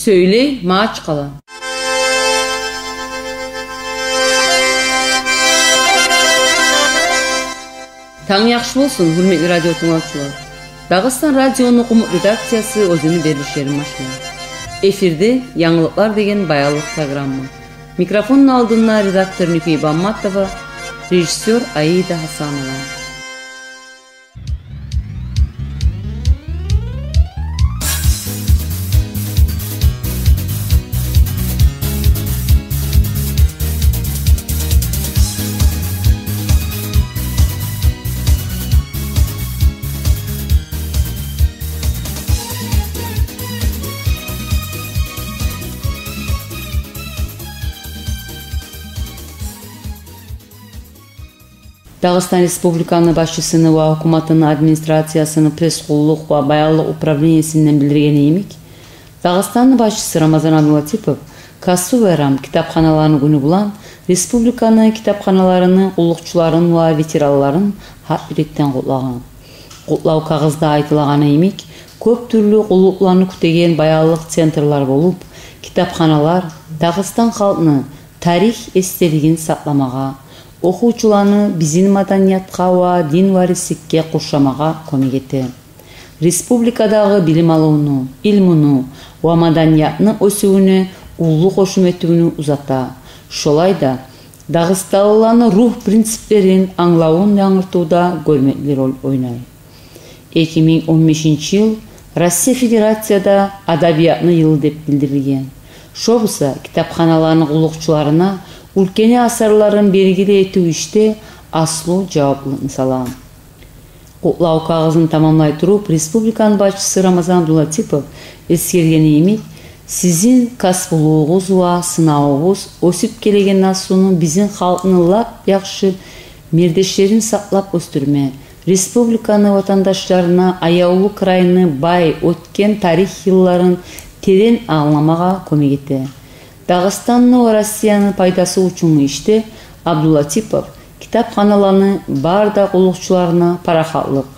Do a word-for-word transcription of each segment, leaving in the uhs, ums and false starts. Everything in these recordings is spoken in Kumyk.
Сёйлей Магьачкъала. Танг яхшы болсун, гьюрметли радио тынглавчулар. Дагъыстан радиону къумукъ редакциясы оьзюню берилишлерин башлай. Эфирде «Янгылыкълар» деген баянлыкъ программа. Микрофонну алдында редактор Нюкей Бамматова, режиссёр Аида Гьасанова. Дагъыстан Республиканы башчысыны ва гьукуматыны администрациясыны пресс-къуллукъ ва баянлыкъ управлениесинден билдиргени йимик, Дагъыстанны башчысы Рамазан Абдулатипов касбу байрам, китапханаланы гюню булан республиканы китапханаларыны къуллукъчуларын ва ветеранларын гьакъ юрекден къутлагъан. Къутлав кагъызда айтылагъаны йимик, кёп тюрлю къуллукъланы кютеген баянлыкъ центрлер болуп, китапханалар Дагъыстан халкъны тарих эсделигин сакъламагъа, охувчуланы бизин маданиятгъа ва дин варисликге къуршамагъа кёмек эте. Республикадагъы билим алывну, илмуну ва маданиятны оьсювюне уллу къошум этивню узата. Шолай да, дагъыстанлыланы ругь принциплерин англавун янгыртывда гёрмекли роль ойнай. Эки минг он бешинчи йыл Россия Федерацияда адабиятны йылы деп билдирилген. Шо буса китапханаланы къуллукъчуларына уьлкени асарларын белгили этив ишде аслу жаваплыкъны сала. Къутлав кагъызын тамамлай туруп, республиканы башчысы Рамазан Абдулатипов эсгергени йимик, сизин касбулугъугъуз ва сынавугъуз оьсюп гелеген наслуну, бизин халкъны лап яхшы мердешлерин сакълап оьсдюрме, республиканы ватандашларына аявлу крайны бай оьтген тарих йылларын терен англамагъа кёмек эте. Дагъыстанны ва Россияны пайдасы учунгу ишде Абдулатипов китапханаланы бары да къуллукъчуларына парахатлыкъ,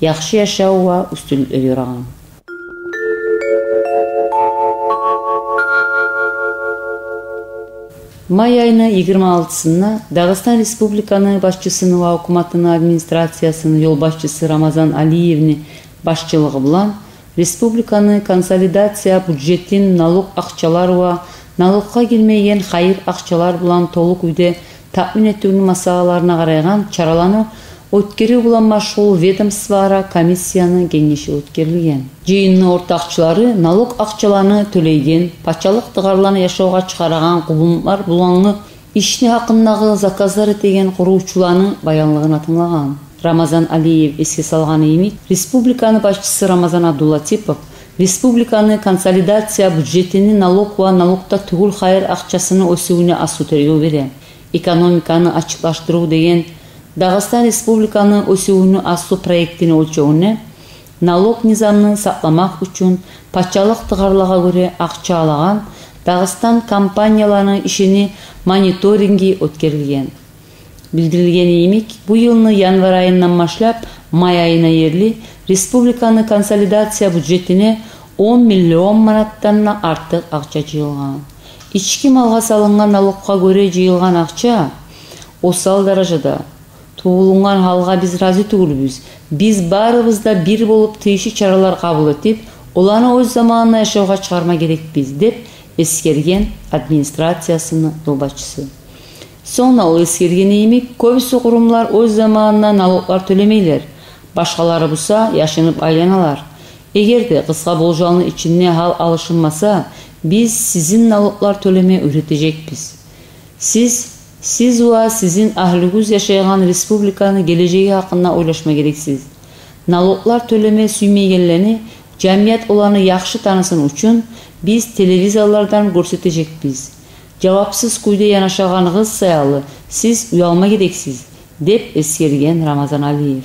яхшы яшав ва уьстюнлюклер ёрагъан. Май айны йигирма алтысында Дагъыстан Республиканы башчысыны ва гьукуматыны администрациясыны ёлбашчысы Рамазан Алиевни башчылыгъы булан республиканы консолидация бюджетин налог акъчалар ва налогъа гирмейген хайыр акъчалар булан толу кюйде таъмин этивню масъалаларына къарайгъан чараланы оьтгерив булан машгъул ведомствоара комиссияны генгеши оьтгерилген. Жыйынны ортакъчылары налог акъчаланы тёлейген, пачалыкъ тыгъарланы яшавгъа чыгъарагъан къувумлар булангъы ишни гьакъындагъы заказлар этеген къурувчуланы баянлыгъын тынглагъан. Рамазан Алиев эсге салгъаны йимик, республиканы башчысы Рамазан Абдулатипов республиканы консолидация бюджетини налог ва налогда тюгюл хайыр акъчасыны оьсювюне аслу тергев бере. Экономиканы ачыкълашдырыв деген Дагъыстан Республиканы оьсювню аслу проектини оьлчевюнде налог низамны сакъламакъ учун пачалыкъ тыгъарлагъа гёре акъча алагъан Дагъыстан компанияланы ишини мониторинги оьтгерилген. Билдирилгени йимик, бу йылны январь айындан башлап май айына ерли республиканы консолидация бюджетине он миллион манатдан да артыкъ акъча жыйылгъан. Ички малгъа салынгъан налогъа гёре жыйылгъан акъча осал даражада. Тувулунгъан гьалгъа биз рази тюгюлбюз. Биз барыбыз да бир болуп тийишли чаралар къабул этип, оланы оьз заманында яшавгъа чыгъарма герекбиз, деп эсгерген администрациясыны ёлбашчысы. Сонг да ол эсгергени йимик, кёбюсю къурумлар оьз заманында налоглар тёлемейлер, башгъалары буса яшынып айланалар. Эгер де къысгъа болжалны ичинде гьал алышынмаса, биз сизин налоглар тёлеме уьйретежекбиз. Сиз, сиз ва сизин агьлюгюз яшайгъан республиканы гележеги гьакъында ойлашма герексиз. Налоглар тёлеме сюймейгенлени, жамият оланы яхшы танысын учун, биз телевизорлардан гёрсетежекбиз. Жавапсыз кюйде янашагъаныгъыз саялы сиз уялма герексиз, деп эсгерген Рамазан Алиев.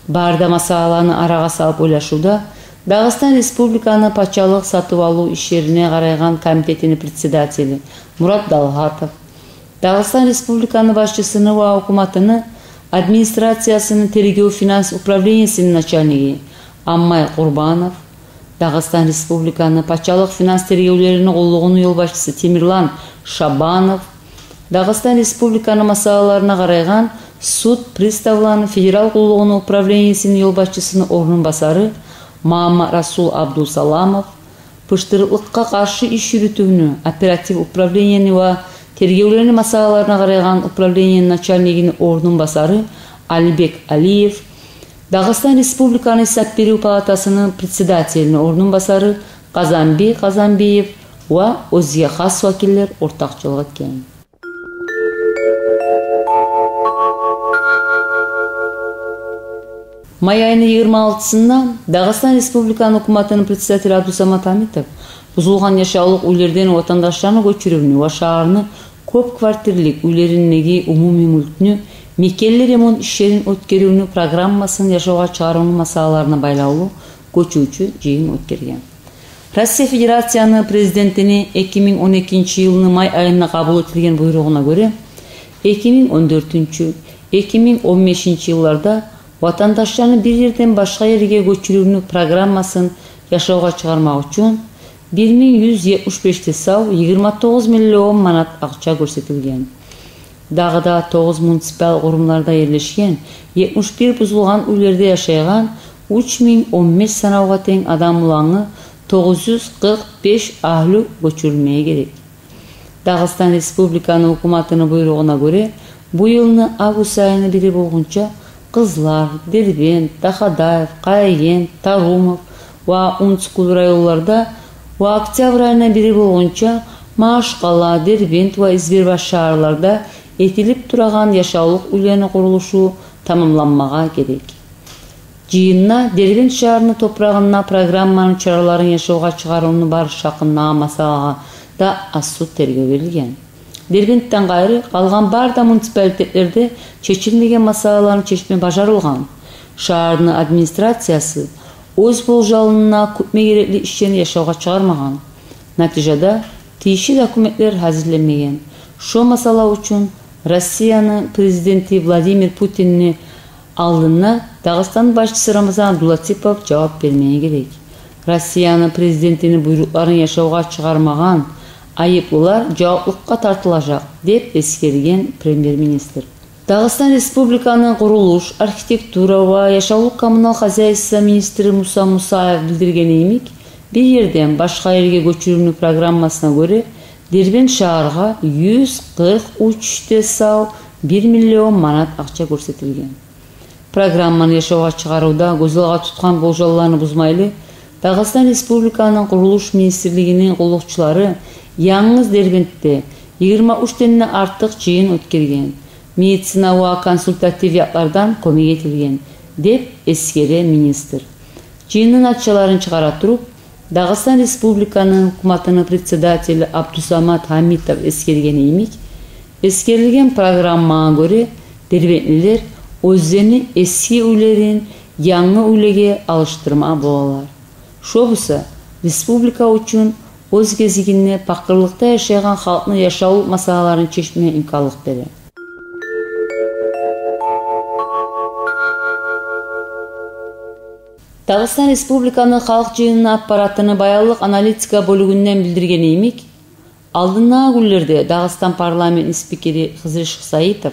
Бары да масъаланы арагъа салып ойлашывда Дагъыстан Республиканы пачалыкъ сатып алыв ишлерине къарайгъан комитетини председатели Мурат Далгъатов, Дагъыстан Республиканы башчысыны ва гьукуматыны администрациясыны тергев-финанс управлениесини начальниги Аммай Къурбанов, Дагъыстан Республиканы пачалыкъ финанс тергевлерини къуллугъуну ёлбашчысы Темирлан Шабанов, Дагъыстан Республиканы масъалаларына къарайгъан суд приставланы федерал къуллугъуну управлениесини ёлбашчысыны орнун басары Маматрасул Абдусаламов, пыштырыкълыкъгъа къаршы иш юрютювню оператив управлениени ва тергевлени масъалаларына къарайгъан управлениени начальнигини орнун басары Алибек Алиев, Дагъыстан Республиканы Гьисап берив палатасыны председателини орнун басары Къазанби Къазанбиев ва оьзге хас вакиллер ортакъчылыкъ этген. Май айны йигирма алтысында Дагъыстан Республиканы гьукуматыны председатели Абдусамат Гьамитов бузулгъан яшавлукъ уьйлерден ватандашланы гёчюрювню ва шагьарны кёп квартирлик уьйлериндеги умумий мюлкню мекенли ремонт ишлерин оьтгерювню программасын яшавгъа чыгъарывну масъалаларына байлавлу гёчювчю жыйын оьтгерген. Россия Федерацияны Президентини эки минг он экинчи йылны май айында къабул этилген буйругъуна гёре, эки минг он дёртюнчю, эки минг он бешинчи йылларда ватандашланы бир ерден башгъа ерге гёчюрювню программасын яшавгъа чыгъармакъ учун бир минг юз етмиш беш де сав йигирма тогъуз миллион манат акъча гёрсетилген. Дагъы да тогъуз муниципал къурумларда ерлешген етмиш бир бузулгъан уьйлерде яшайгъан уьч минг он беш санавгъа тенг адам улангъы тогъуз юз къыркъ беш агьлю гёчюрюлмеге герек. Дагъыстан Республиканы гьукуматыны буйругъуна гёре, бу йылны август айыны бири болгъунча Къызлар, Дербент, Дахадаев, Къаягент, Тарумов ва Унцкул районларда ва октябрь айына бири болгъунча Магьачкъала, Дербент ва Избербаш шагьарларда этилип турагъан яшавлукъ уьйлени къурулушу тамамланмагъа герек. Жыйында Дербент шагьарны топурагъында программаны чараларын яшавгъа чыгъарывну барышы гьакъындагъы масъалагъа да аз-суз тергев берилген. Дербентден къайры, къалгъан бары да муниципалитетлерде чечилмеген масъалаланы чечме бажарылгъан. Шагьарны администрациясы оьз болжалында кютме герекли ишлени яшавгъа чыгъармагъан. Натижада тийишли документлер гьазирленмеген. Шо масъала учун Россияны Президенти Владимир Путинни алдында Дагъыстан башчысы Рамзан Абдулатипов жавап бермеге герек. Россияны Президентини буйрукъларын яшавгъа чыгъармагъан айыплылар жаваплыкъгъа тартылажакъ, деп эсгерген премьер-министр. Дагъыстан Республиканы къурулуш, архитектура ва яшавлукъ-коммунал хозяйство министри Муса Мусаев билдиргени йимик, бир ерден башгъа ерге гёчюрювню программасына гёре, Дербент шагьаргъа юз къыркъ уьч де сав бир миллион манат акъча гёрсетилген. Программаны яшавгъа чыгъарывда гёз алгъа тутгъан болжалланы бузмайлы, Дагъыстан Республиканы Къурулуш министрлигини къуллукъчулары янгыз Дербентде йигирма уьчден де артыкъ жыйын оьтгерген, медицина ва консультатив якълардан кёмек этилген, деп эсгере министр. Жыйынны натижаларын чыгъара туруп, Дагъыстан Республиканы гьукуматыны председатели Абдусамат Гьамитов эсгергени йимик, эсгерилген программагъа гёре, дербентлилер оьзлени эски уьйлерин янгы уьйлеге алышдырма болалар. Шо буса республика учун оьз гезигинде пакъырлыкъда яшайгъан халкъны яшавлукъ масъалаларын чечме имканлыкъ бере. Дагъыстан Республиканы Халкъ Жыйынына аппаратыны баянлыкъ аналитика бёлюгюнден билдиргени йимик, алдындагъы гюнлерде Дагъыстан парламентни спикери Хизри Шихсаитов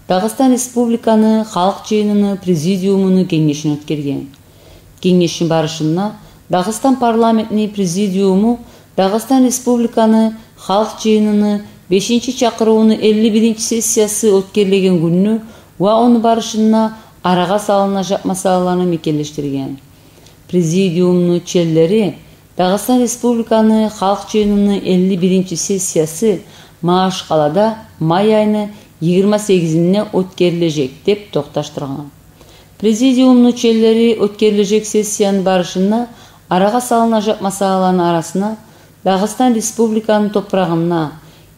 Дагъыстан Республиканы Халкъ Жыйыныны президиумуну генгешин оьтгерген. Генгешни барышында Дагъыстан парламентни президиуму Дагъыстан Республиканы Халкъ Жыйыныны бешинчи чакъырывуну элли биринчи сессиясы оьтгерилеген гюнню ва ону барышында арагъа салынажакъ масъалаланы мекенлешдирген. Президиумну членлери Дагъыстан Республиканы Халкъ Жыйыныны элли биринчи сессиясы Магьачкъалада май айны йигирма сегизинде оьтгерилежек деп токъташдыргъан. Президиумну членлери оьтгерилежек сессияны барышында арагъа салынажакъ масъалаланы арасына Дагъыстан Республиканы топурагъында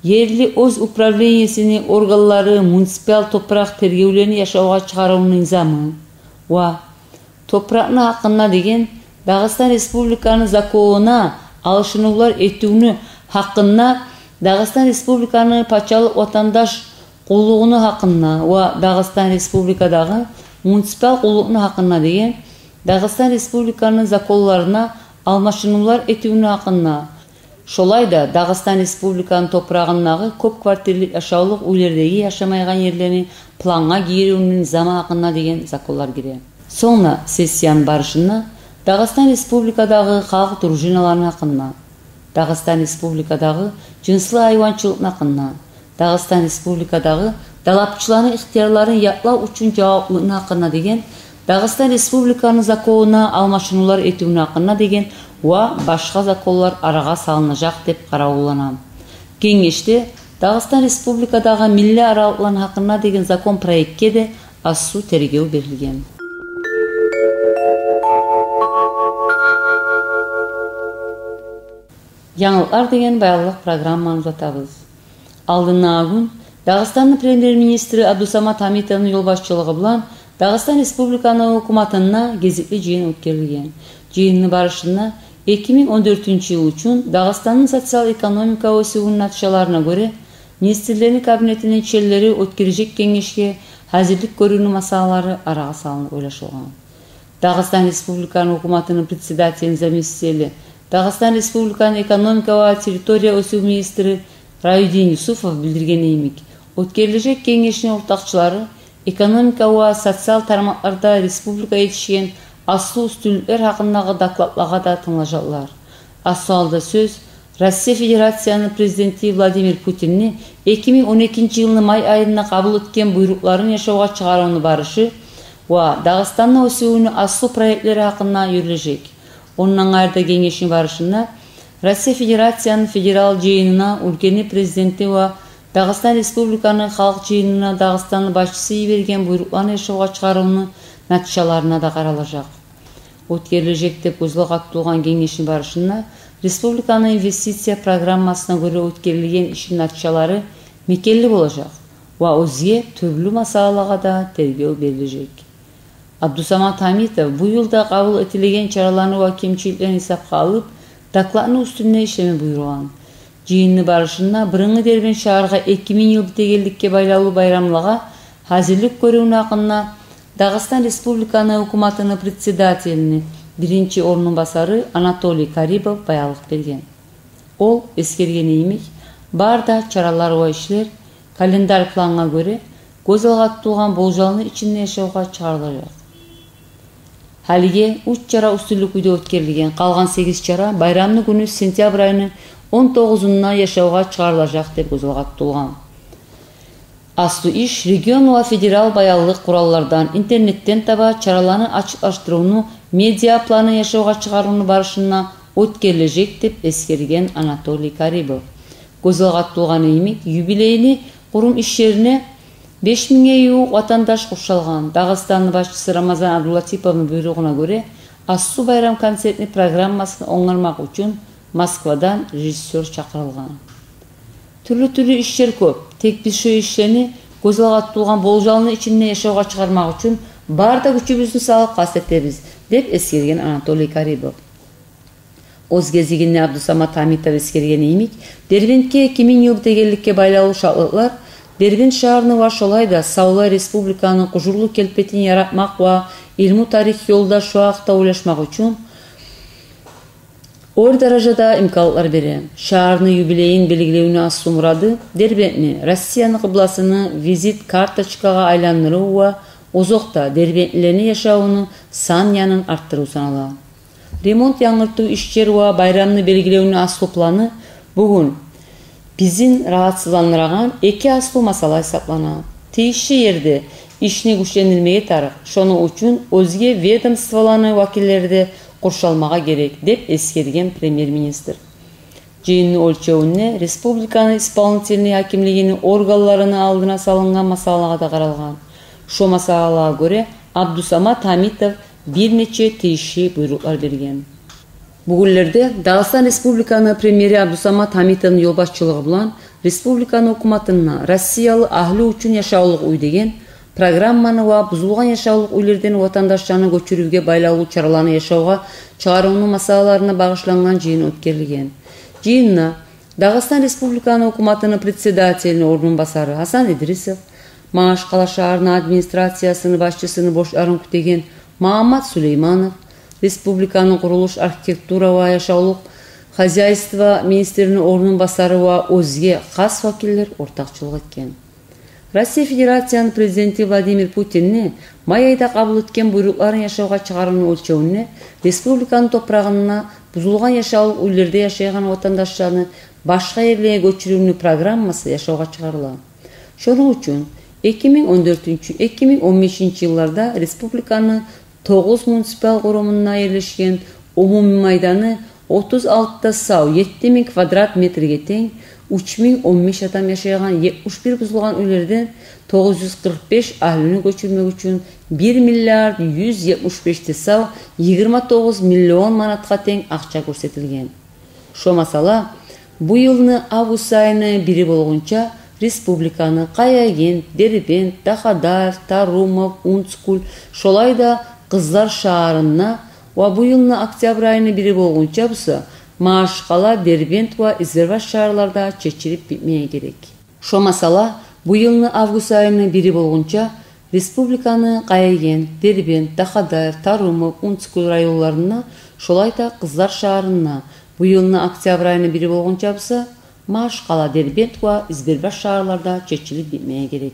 ерли оьз управлениесини органлары муниципал топуракъ тергевлени яшавгъа чыгъарывну низамы ва топуракъны гьакъында деген Дагъыстан Республиканы законуна алышынывлар этивню гьакъында, Дагъыстан Республиканы пачалыкъ ватандаш къуллугъуну гьакъында ва Дагъыстан Республикадагъы муниципал къуллукъну гьакъында деген Дагъыстан Республиканы законларына алмашынывлар этивню гьакъында, шолай да Дагъыстан Республиканы топурагъындагъы кёп квартирлик яшавлукъ уьйлердеги яшамайгъан ерлени плангъа гириюню низамы гьакъында деген законлар гире. Сонг да сессияны барышында Дагъыстан Республикадагъы халкъ дружиналарыны гьакъында, Дагъыстан Республикадагъы жынслы гьайванчылыкъны гьакъында, Дагъыстан Республикадагъы далапчыланы ихтиярларын якълав учун жаваплылыкъны гьакъында деген, Дагъыстан Республиканы законуна алмашынывлар этивню гьакъында деген ва башгъа законлар арагъа салынажакъ деп къаравуллана. Генгешде Дагъыстан Республикадагъы миллет аралыкъланы гьакъында деген закон проектге де асу тергев берилген. Янгылыкълар деген баянлыкъ программаны узатабыз. Алдындагъы гюн Дагъыстанны премьер-министри Абдусамат Гьамитовну ёлбашчылыгъы булан Дагъыстан Республиканы гьукуматында гезикли жыйын оьтгерилген. Жыйынны барышында эки минг он дёртюнчю йыл учун Дагъыстанны социал-экономика оьсювюню натижаларына гёре, министрлени кабинетини члени оьтгережек генгешге гьазирлик гёрювню масъалалары арагъа салынып ойлашылгъан. Дагъыстан Республиканы гьукуматыны председателини заместители, Дагъыстан Республиканы экономика ва территория оьсюв министри Раюдин Юсупов билдиргени йимик, оьтгерилежек генгешни ортакъчылары экономика ва социал тармакъларда республика етишген аслу уьстюнлюклер гьакъындагъы докладлагъа да тынглажакълар. Аслу гьалда сёз Россия Федерацияны Президенти Владимир Путинни эки минг он экинчи йылны май айында къабул этген буйрукъларын яшавгъа чыгъарывну барышы ва Дагъыстанны оьсювюню аслу проектлери гьакъында юрюлежек. Ондан къайры да генгешни барышында Россия Федерацияны Федерал Жыйынына уьлкени Президенти ва Дагъыстан Республиканы Халкъ Жыйынына Дагъыстанны башчысы йиберген буйрукъланы яшавгъа чыгъарывну натижаларына да къаралажакъ. Оьтгерилежек деп гёзге къаралгъан генгешни барышында республиканы инвестиция программасына гёре оьтгерилген ишни натижалары мекенли болажакъ ва оьзге тюрлю масъалагъа да тергев берилежек. Абдусамат Гьамитов бу йылда къабул этилген чараланы ва кемчиликлени гьисапгъа алып, докладны уьстюнде ишлеме буюргъан. Жыйынны барышында бырынгъы Дербент шагьаргъа эки минг йыл битегенликге байлавлу байрамлагъа гьазирлик гёрювню гьакъында Дагъыстан Республиканы гьукуматыны председателини биринчи орнун басары Анатолий Карибов баянлыкъ берген. Ол эсгергени йимик, бары да чаралар ва ишлер календарь плангъа гёре гёз алгъа тутулгъан болжалны ичинде яшавгъа чыгъарылажакъ. Гьалиге уьч чара уьстюнлю кюйде оьтгерилген, къалгъан сегиз чара байрамны гюню, сентябрь айны он тогъузунда яшавгъа чыгъарылажакъ деп гёз алгъа тутулгъан. Аслу иш регион ва федерал баянлыкъ къураллардан, интернетден таба чараланы ачыкълашдырывну, медиа планы яшавгъа чыгъарывну барышында оьтгерилежек деп эсгерген Анатолий Карибов. Гёз алгъа тутулгъаны йимик, юбилейни къурум иш ерине беш мингге ювукъ ватандаш къуршалгъан. Дагъыстанны башчысы Рамазан Абдулатиповну буйругъуна гёре, аслу байрам концертни программасын онгармакъ учун Москвадан режиссёр чакъырылгъан. Тюрлю-тюрлю ишлер кёп. Тек биз шо ишлени, гёз алгъа тутулгъан болжалны ичинде яшавгъа чыгъармакъ учун бары да гючюбюзню салып къаст этебиз, деп эсгерген Анатолий Карибов. Оьз гезигинде Абдусамат Гьамитов эсгергени йимик, Дербентге эки минг йыл битегенликге байлавлу шатлыкълар Дербент шагьарны ва шолай да савлай республиканы къужурлу келпетин яратмакъ ва илму-тарих ёлда шо гьакъда ойлашмакъ учун оьр даражада имканлыкълар бере. Шагьарны юбилейин белгилевню аслу мурады Дербентни Россияны къыбласына визит карточкагъа айландырыв ва озокъда дербентлилени яшавуну сан янын артдырыв санала. Ремонт-янгыртыв ишлер ва байрамны белгилевню аслу планы бугюн бизин рагьатсызландырагъан эки аслу масъала гьисаплана. Тийишли ерде ишни гючлендирмеге тарыкъ, шону учун оьзге ведомстволаны вакиллери де къуршалмагъа герек, деп эсгерген премьер-министр. Жыйынны оьлчевюнде республиканы исполнительный гьакимлигини органларыны алдына салынгъан масъалагъа да къаралгъан. Шо масъалагъа гёре Абдусамат Гьамитов бир нече тийишли буйрукълар берген. Бу гюнлерде Дагъыстан Республиканы премьери Абдусамат Гьамитовну ёлбашчылыгъы булан республиканы гьукуматында «Россиялы агьлю учун яшавлукъ уьй» деген программаны ва бузулгъан яшавлукъ уьйлерден ватандашланы гёчюрювге байлавлу чараланы яшавгъа чыгъарывну масъалаларына багъышлангъан жыйын оьтгерилген. Жыйында Дагъыстан Республиканы гьукуматыны председателини орнун басары Гьасан Идрисов, Магьачкъала шагьарны администрациясыны башчысыны бошларын кютеген Магьаммат Сулейманов, республиканы къурулуш, архитектура ва яшавлукъ хозяйство министрини орунбасары ва оьзге хас вакиллер ортакъчылыкъ этген. Россия Федерацияны Президенти Владимир Путинни май айда къабул этген буйрукъларын яшавгъа чыгъарывну оьлчевюнде республиканы топурагъында бузулгъан яшавлукъ уьйлерде яшайгъан ватандашланы башгъа ерлеге гёчюрювню программасы яшавгъа чыгъарыла. Шону учун эки минг он дёртюнчю, эки минг он бешинчи йылларда республиканы тогъуз муниципал къурумунда ерлешген, умумий майданы отуз алты да сав етти минг квадрат метрге тенг, уьч минг он беш адам яшайгъан етмиш бир бузулгъан уьйлерден тогъуз юз къыркъ беш агьлюню гёчюрмек учун бир миллиард юз етмиш беш де сав йигирма тогъуз миллион манатгъа тенг акъча гёрсетилген. Шо масала, бу йылны август айыны бири болгъунча республиканы Къаягент, Дербент, Дахадаев, Тарумов, Унцкуль, шолай да Къызлар шагьарында ва бу йылны октябрь айыны бири болгъунча буса Магьачкъала, Дербент ва Избербаш шагьарларда чечилип битмеге герек. Шо масала, бу йылны август айыны бири болгъунча республиканы Къаягент, Дербент, Дахадаев, Тарумов, Унцкуль районларында, шолай да Къызлар шагьарында, бу йылны октябрь айыны бири болгъунча буса Магьачкъала, Дербент ва Избербаш шагьарларда чечилип битмеге герек.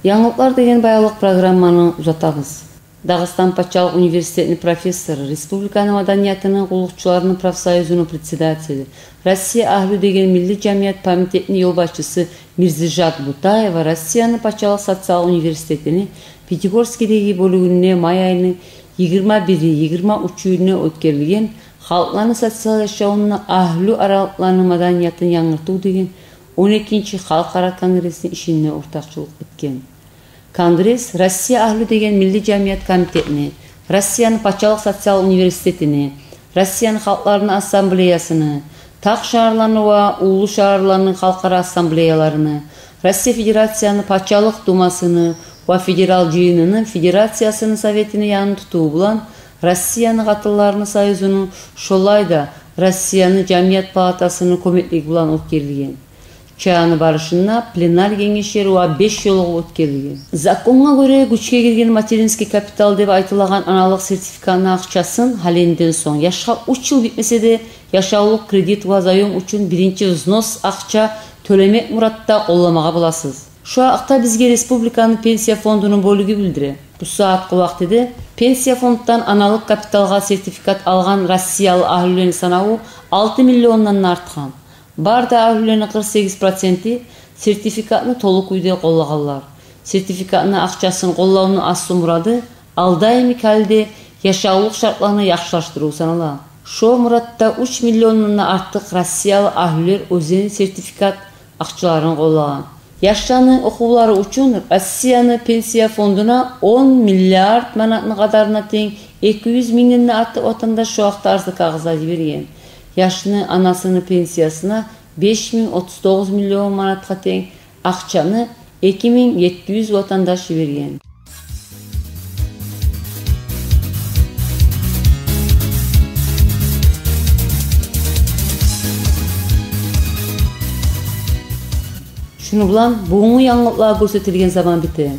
Янгылыкълар деген баянлыкъ программаны узатабыз. Дагъыстан пачалыкъ университетини профессору, республиканы маданиятыны къуллукъчуларыны профсоюзуну председатели, «Россия агьлю» деген милли жамият комитетини ёлбашчысы Мирзижат Бутаева Россияны пачалыкъ социал университетини Пятигорскийдеги бёлюгюнде май айыны йигирма бири, йигирма уьчюнде оьтгерилген «Халкъланы социал яшавунда агьлю аралыкъланы маданиятын янгыртыв» деген он экинчи халкъара конгрессни ишинде ортакъчылыкъ этген. Конгресс «Россия агьлю» деген милли жамият комитетини, Россияны пачалыкъ социал университетини, Россияны халкъларыны ассамблеясыны, тагъ шагьарланы ва уллу шагьарланы халкъара ассамблеяларыны, Россия Федерацияны Пачалыкъ Думасыны ва Федерал Жыйыныны Федерациясыны Советини янын тутуву булан Россияны Къатынларыны союзуну, шолай да Россияны Жамият палатасыны кёмеклиги булан оьтгерилген. Чараны барышында пленар генешлер ва беш ёлугъув оьтгерилген. Законгъа гёре гючге гирген материнский капитал деп айтылагъан аналыкъ сертификатны акъчасын гьалинден сонг яшгъа уьч йыл битмесе де яшавлукъ кредит ва заём учун биринчи взнос акъча тёлемек муратда къолламагъа боласыз. Шо гьакъда бизге республиканы пенсия фондуну бёлюгю билдире. Бу сагьатгъы вакътиде пенсия фонддан аналыкъ капиталгъа сертификат алгъан россиялы агьлюлени санаву алты миллиондан да артгъан. Бары да агьлюлени къыркъ сегиз проценти сертификатны толу кюйде къоллагъанлар. Сертификатны акъчасын къоллавну аслу мурады алда йимик гьалде яшавлукъ шартланы яхшылашдырыв санала. Шо муратда уьч миллиондан да артыкъ россиялы агьлюлер оьзлени сертификат акъчаларын къоллагъан. Яшланы охувлары учун Россияны пенсия фондуна он миллиард манатны къадарына тенг эки юз мингден де артыкъ ватандаш шо гьакъда арзы кагъызлар йиберген. Яшны анасыны пенсиясына беш минг отуз тогъуз миллион манатгъа тенг акъчаны эки минг етти юз ватандаш йиберген. Шуну булан бугюнгю янгылыкълагъа гёрсетилген заман бите.